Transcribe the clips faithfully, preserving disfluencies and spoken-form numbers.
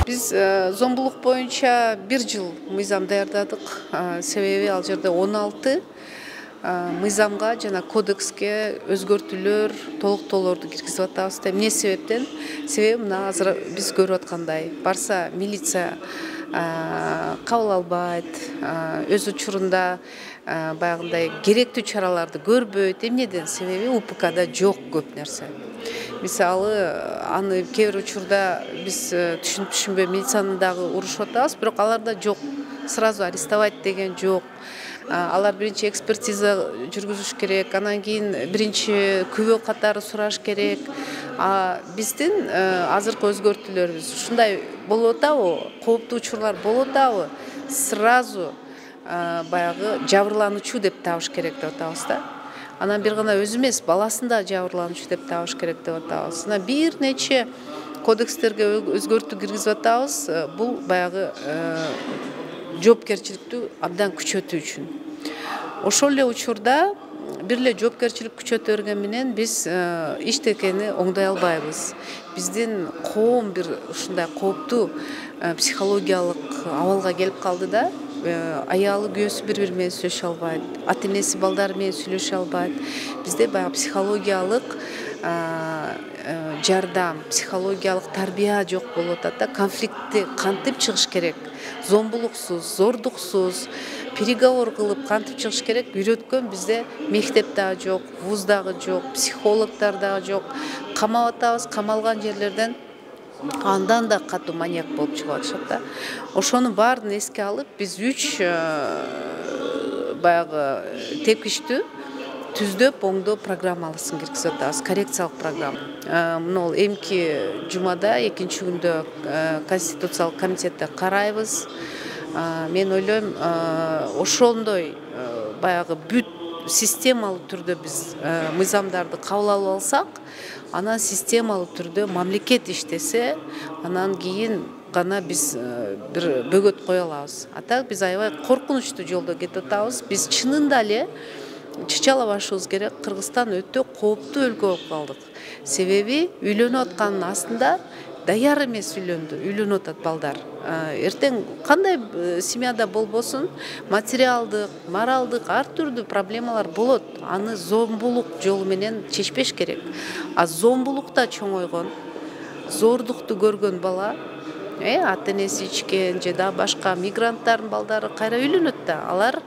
Биз зомбулук боюнча бир жыл мыйзам даярдадык. Себеби ал жерде он алты мыйзамга жана кодекске өзгөртүүлөр, толуктоолорду киргизип атабыз. Эмне себептен? Себеби мына азыр биз көрүп аткандай барса милиция кабыл албайт, өз учурунда баягындай керектүү чараларды көрбөйт. Эмнеден? Себеби УПКда жок көп нерсе. Мисалы, аны кээ бир учурда биз түшүнүп түшүнбөй милицияны дагы урушуп атабыз, бирок аларда жок. Сразу арестовать деген жок. Алар биринчи экспертиза жүргүзүш керек, анан кийин биринчи күбө катары сураш керек. А биздин азыркы өзгөртүүлөрүбүз ушундай болуп атабы, кооптуу учурлар болуп атабы, сразу баягы жабырлануучу деп табыш керек деп атабыз да. Анан бир гана өзү эмес, баласын да жабырлануучу деп табыш керек деп атабыз. Анан бир нече кодекстерге өзгөртүү киргизип атабыз. Бул баягы жоопкерчиликтү абдан күчөтүү үчүн. Ошол эле учурда бир эле жоопкерчилик күчөтө берген менен биз иштекени оңдой албайбыз. Биздин коом бир ушундай кооптуу психологиялык абалга келип калды да. Аялы күйөөсү бири-бири менен сүйлөшө албайт, ата-энеси балдары менен сүйлөшө албайт. Бизде баягы психологиялык жардам, психологиялык тарбия жок болуп атат да. Конфликтти кантип чыгыш керек? Зомбулуксуз, зордуксуз, переговор кылып кантип чыгыш керек? Үйрөткөн бизде мектеп дагы жок, вуз дагы жок, психологдор дагы жок. Камап атабыз, камалган жерлерден андан да катуу маньяк болуп чыгып атышат да. Ошонун баарын эске алып, биз үч баягы тепкичтүү түздөп, оңдоо программалысын киргизип атабыз, коррекциялык программа. Мына эмки жумада экинчи күндө Конституциялык комитетте карайбыз. Мен ойлойм, ошондой баягы бүт системалуу түрдө биз мыйзамдарды кабыл алып алсак, анан системалуу түрдө мамлекет иштесе, анан кийин гана биз бир бөгөт кое алабыз. А так биз аябай коркунучтуу жолдо кетип атабыз. Биз чынында эле чычалабашыбыз керек. Кыргызстан өтө кооптуу өлкө болуп калдык. Себеби үйлөнүп атканын астында даяр эмес үйлөндү, үйлөнүп атат балдар. Эртең кандай семьяда болбосун, материалдык, моралдык ар түрдүү проблемалар болот. Аны зомбулук жолу менен чечпеш керек. А зомбулукта чоңойгон, зордукту көргөн бала, э ата-энеси ичкен же да башка мигранттардын балдары кайра үйлөнөт да. Алар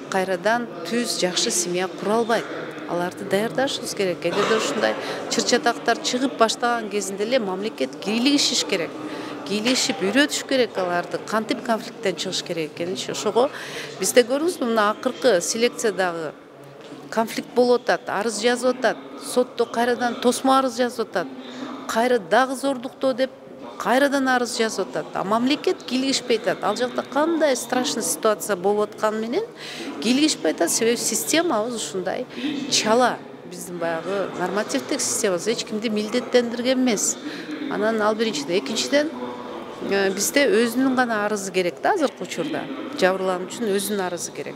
кайрадан түз жакшы семья кура албайт. Аларды даярдашыбыз керек. Эгерде ушундай чыр-чатактар чыгып баштаган кезинде эле мамлекет кийлигишиш керек. Кийлигишип үйрөтүш керек аларды, кантип конфликттен чыгыш керек экенин. Ошого бизде көрүңүзбү, мына акыркы селекциядагы конфликт болуп атат, арыз жазып атат, сотто кайрадан тосмо арыз жазып атат, кайра дагы зордуктоо деп кайрадан арыз жазып атат. А мамлекет кийлигишпей атат. Ал жакта кандай страшный ситуация болуп атканы менен кийлигишпей атат. Себеби системабыз ушундай чала. Биздин баягы нормативдик системабыз эч кимди милдеттендирген эмес. Анан ал биринчиден, экинчиден бизде өзүнүн гана арызы керек да азыркы учурда. Жабырлануучунун өзүнүн арызы керек.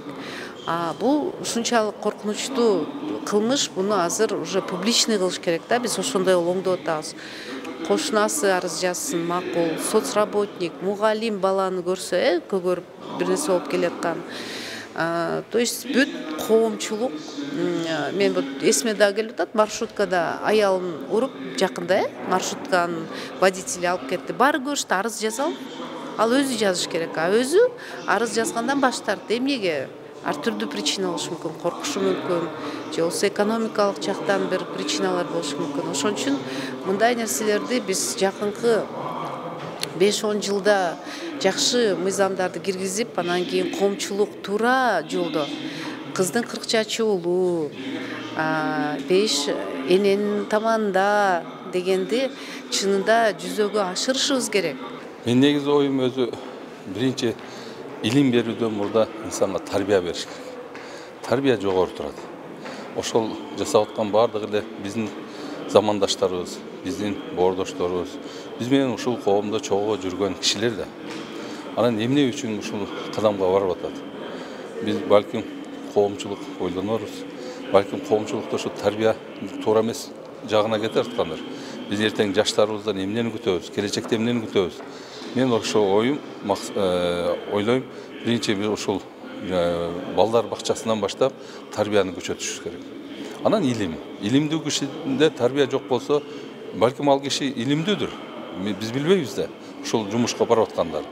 А бул ушунчалык коркунучтуу кылмыш, буну азыр уже публичный кылыш керек да. Биз ошондой оңдоп атабыз. Кошунасы арыз жазсын, макул, соцработник, мугалим баланы көрсө, э, көгөрүп бир нерсе болуп келаткан. То есть бүт коомчулук, мен вот эсиме дагы келип атат, маршруткада аялын уруп жакында, э, маршрутканын водители алып кетти. Баары көрүштү, арыз жазалым. Ал өзү жазыш керек. А өзү арыз жазгандан баш тартты. Эмнеге? Ар түрдүү причина болушу мүмкүн, коркушу мүмкүн, же болбосо экономикалык жактан бир причиналар болушу мүмкүн. Ошон үчүн мындай нерселерди биз жакынкы беш он жылда жакшы мыйзамдарды киргизип, анан кийин коомчулук туура жолдо кыздын кырк чачы уулу, беш эненин таманында дегенди чынында жүзөгө ашырышыбыз керек. Мен негизи оюм өзү биринчи илим берүүдөн мурда инсанга тарбия бериш керек. Тарбия жогору турат. Ошол жасап аткан баардыгы эле биздин замандаштарыбыз, биздин боордошторубуз, биз менен ушул коомдо чогуу жүргөн кишилер да. Анан эмне үчүн ушул кадамга барып атат? Биз балким коомчулук ойлонорбуз, балким коомчулукта ушу тарбия туура эмес жагына кете аткандыр. Биз эртең жаштарыбыздан эмнени күтөбүз, келечекте эмнени күтөбүз? мен ошо оюм ойлойм, биринчи биз ушул балдар бакчасынан баштап тарбияны күчөтүшүбүз керек. Анан илим. Илимдүү кишиде тарбия жок болсо, балким ал киши илимдүүдүр. Биз билбейбиз да. Ушул жумушка барып аткандар,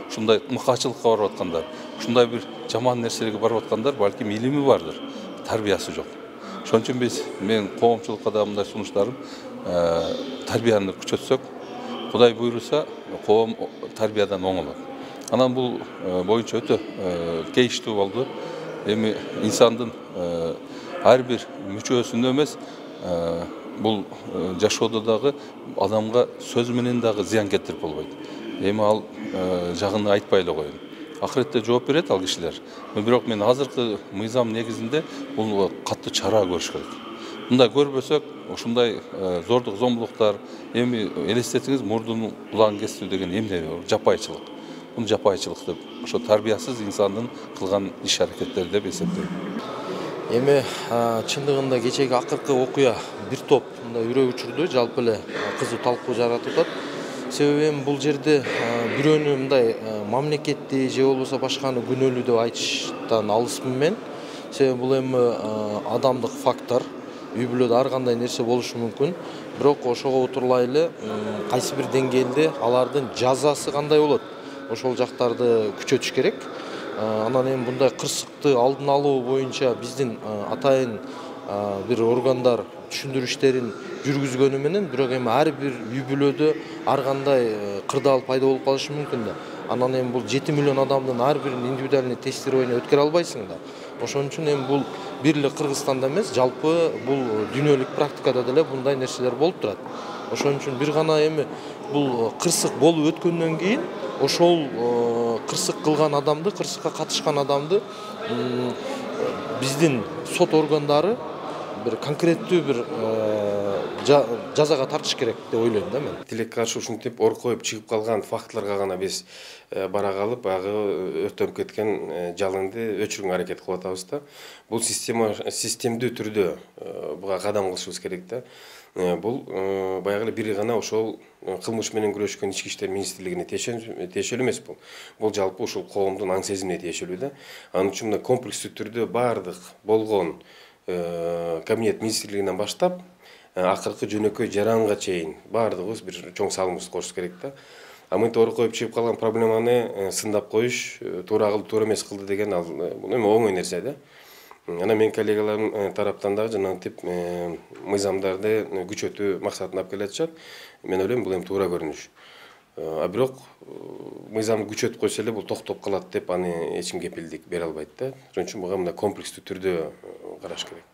ушундай мыкаачылыкка барып аткандар, ушундай бир жаман нерселерге барып аткандар, балким илими бардыр, тарбиясы жок. Ошон үчүн биз мен коомчулукка да мындай сунуштарым, тарбияны күчөтсөк, Кудай буйруса, коом тарбиядан оңолот. Анан бул боюнча өтө кейиштүү болду. Эми инсандын ар бир мүчөсүндө эмес, бул жашоодо дагы адамга сөз менен дагы зыян келтирип болбойт. Эми ал жагын айтпай эле коеюн. Акыретте жооп берет ал кишилер. Бирок мен азыркы мыйзам негизинде бул катуу чара көрүш керек. Мындай көрбөсөк, ушундай зордук зомбулуктар, эми элестетиңиз, мурдун кулагын кесүү деген эмне? Жапайчылык. Бул жапайчылык деп, ошо тарбиясыз инсандын кылган иш-аракеттери деп эсептейм. Эми чындыгында кечеги акыркы окуя бир топ мындай үрөк учурду жалпы эле кызуу талкуу жаратып атат. Себеби эми бул жерде бирөөнү мындай мамлекетти же болбосо башканы күнөөлүү деп айтыштан алысмын мен. Себеби бул эми адамдык фактор. Үй бүлөдө ар кандай нерсе болушу мүмкүн. Бирок ошого отурлай эле кайсы бир деңгээлде алардын жазасы кандай болот? Ошол жактарды күчөтүш керек. Анан эми мындай кырсыкты алдын алуу боюнча биздин атайын бир органдар түшүндүрүү иштерин жүргүзгөнү менен, бирок эми ар бир үй бүлөдө ар кандай кырдаал пайда болуп калышы мүмкүн да. Анан эми бул жети миллион адамдын ар бирин индивидуальный тестированиене өткөрө албайсың да. Ошон үчүн эми бул бир эле Кыргызстанда эмес, жалпы бул дүйнөлүк практикада деле мындай нерселер болуп турат. Ошон үчүн бир гана эми бул кырсык болуп өткөндөн кийин ошол кырсык кылган адамды, кырсыкка катышкан адамды биздин сот органдары бир конкреттүү бир жазага тартыш керек деп ойлойм да мен. Тилекке каршы ушинтип ор коюп чыгып калган фактыларга гана биз бара калып, ага өртөнүп кеткен жалынды өчүрүүгө аракет кылып атабыз да. Бул система системдүү түрдө буга кадам кылышыбыз керек да. Бул баягы эле бир гана ошол кылмыш менен күрөшкөн ички иштер министрлигине тиешелүү эмес бул. Бул жалпы ушул коомдун аң сезимине тиешелүү да. Анын үчүн мына комплекстүү түрдө бардык болгон кабинет министрлигинен баштап акыркы жөнөкөй жаранга чейин баардыгыбыз бир чоң салымыбызды кошубуз керек да. А мынтип ор коюп чыгып калган проблеманы сындап коюш, туура кылды, туура эмес кылды деген ал бул эми оңой нерсе да. Анан менин коллегаларым тараптан дагы жанагынтип мыйзамдарды күчөтүү максатын алып келатышат. Мен ойлойм, бул эми туура көрүнүш. А бирок мыйзамды күчөтүп койсо эле бул токтоп калат деп аны эч ким кепилдик бере албайт да. Ошон үчүн буга мына комплекстүү түрдө караш керек.